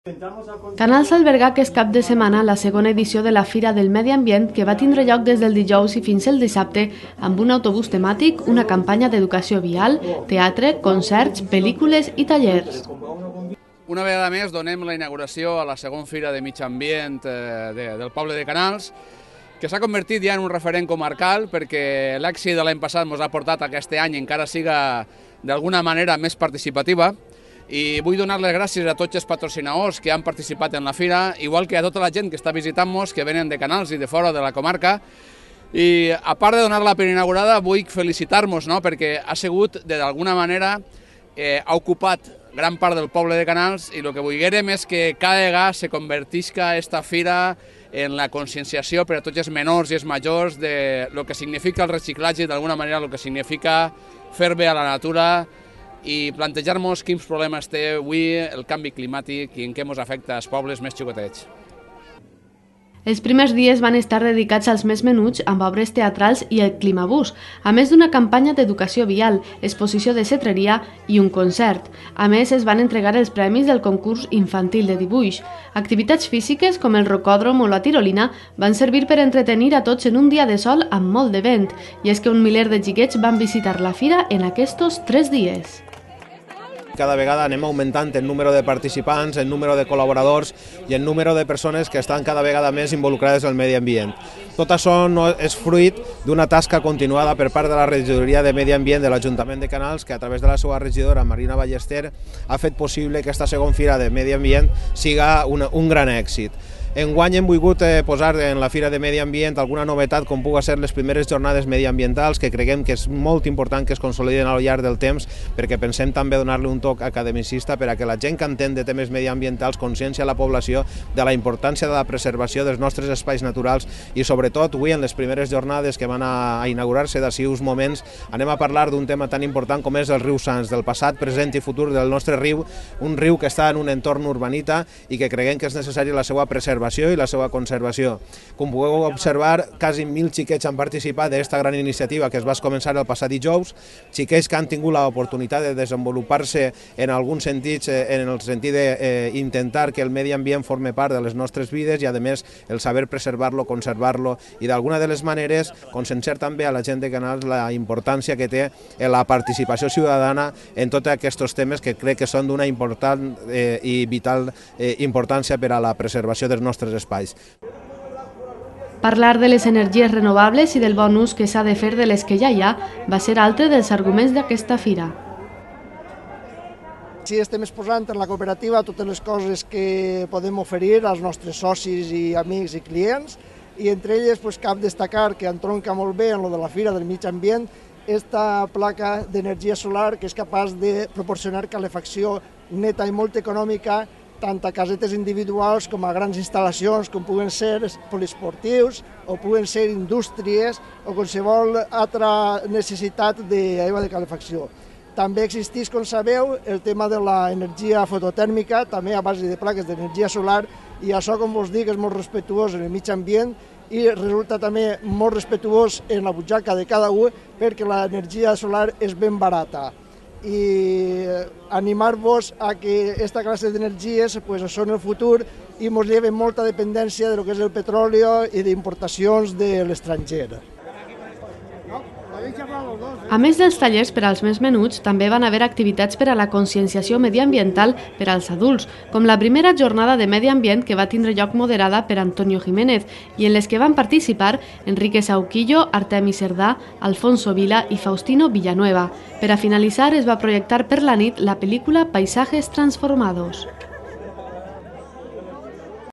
Canals alberga aquest cap de setmana la segona edició de la Fira del Medi Ambient que va tindre lloc des del dijous i fins al dissabte amb un autobús temàtic, una campanya d'educació vial, teatre, concerts, pel·lícules i tallers. Una vegada més donem la inauguració a la segona Fira de Mig Ambient del poble de Canals, que s'ha convertit ja en un referent comarcal perquè l'èxit de l'any passat ens ha portat a aquest any encara siga d'alguna manera més participativa. I vull donar les gràcies a tots els patrocinadors que han participat en la fira, igual que a tota la gent que està visitant-nos, que venen de Canals i de fora de la comarca. I a part de donar-la per inaugurada, vull felicitar-nos, perquè ha sigut, d'alguna manera, ha ocupat gran part del poble de Canals i el que volguérem és que cada vegada se convertisca aquesta fira en la conscienciació per a tots els menors i els majors de lo que significa el reciclatge i d'alguna manera el que significa fer bé a la natura i plantejar-nos quins problemes té avui el canvi climàtic i en què ens afecta als pobles més xicotets. Els primers dies van estar dedicats als més menuts amb obres teatrals i el Climabús, a més d'una campanya d'educació vial, exposició de cetreria i un concert. A més, es van entregar els premis del concurs infantil de dibuix. Activitats físiques com el rocòdrom o la tirolina van servir per entretenir a tots en un dia de sol amb molt de vent, i és que un miler de xiquets van visitar la fira en aquests 3 dies. Cada vegada anem augmentant el número de participants, el número de col·laboradors i el número de persones que estan cada vegada més involucrades en el medi ambient. Tot això no és fruit d'una tasca continuada per part de la regidoria de Medi Ambient de l'Ajuntament de Canals, que a través de la seva regidora Marina Ballester ha fet possible que aquesta segona fira de Medi Ambient siga un gran èxit. Enguany hem volgut posar en la Fira de Medi Ambient alguna novetat com pugui ser les primeres jornades mediambientals, que creguem que és molt important que es consoliden al llarg del temps, perquè pensem també donar-li un toc academicista per a que la gent que entén de temes mediambientals consciencia a la població de la importància de la preservació dels nostres espais naturals i sobretot avui en les primeres jornades que van a inaugurar-se d'ací uns moments anem a parlar d'un tema tan important com és el riu Sants, del passat, present i futur del nostre riu, un riu que està en un entorn urbanita i que creguem que és necessària la seva preservació i la seva conservació. Com podeu observar, quasi 1.000 xiquets han participat d'aquesta gran iniciativa que es va començar el passat dijous, xiquets que han tingut l'oportunitat de desenvolupar-se en alguns sentits, en el sentit d'intentar que el medi ambient forme part de les nostres vides i, a més, el saber preservar-lo, conservar-lo i, d'alguna de les maneres, conscienciar també a la gent de Canals la importància que té la participació ciutadana en tots aquests temes que crec que són d'una important i vital importància per a la preservació dels nostres espais. Parlar de les energies renovables i del bon ús que s'ha de fer de les que ja hi ha va ser altre dels arguments d'aquesta fira. Sí, estem exposant en la cooperativa totes les coses que podem oferir als nostres socis i amics i clients i entre elles cal destacar que entronca molt bé en lo de la Fira del Mig Ambient esta placa d'energia solar que és capaç de proporcionar calefacció neta i molt econòmica tant a casetes individuals com a grans instal·lacions com puguen ser poliesportius o puguen ser indústries o qualsevol altra necessitat d'aigua de calefacció. També existeix, com sabeu, el tema de l'energia fototèrmica, també a base de plaques d'energia solar, i això, com vos dic, és molt respectuós en el mig ambient i resulta també molt respectuós en la butxaca de cada un perquè l'energia solar és ben barata. I animar-vos a que aquesta classe d'energies són el futur i ens lleven molta dependència del que és el petroli i d'importacions de l'estranger. A més dels tallers per als més menuts, també van haver activitats per a la conscienciació mediambiental per als adults, com la primera jornada de medi ambient que va tindre lloc moderada per Antonio Jiménez i en les que van participar Enrique Sauquillo, Artemi Cerdà, Alfonso Vila i Faustino Villanueva. Per a finalitzar, es va projectar per la nit la pel·lícula Paisajes transformados.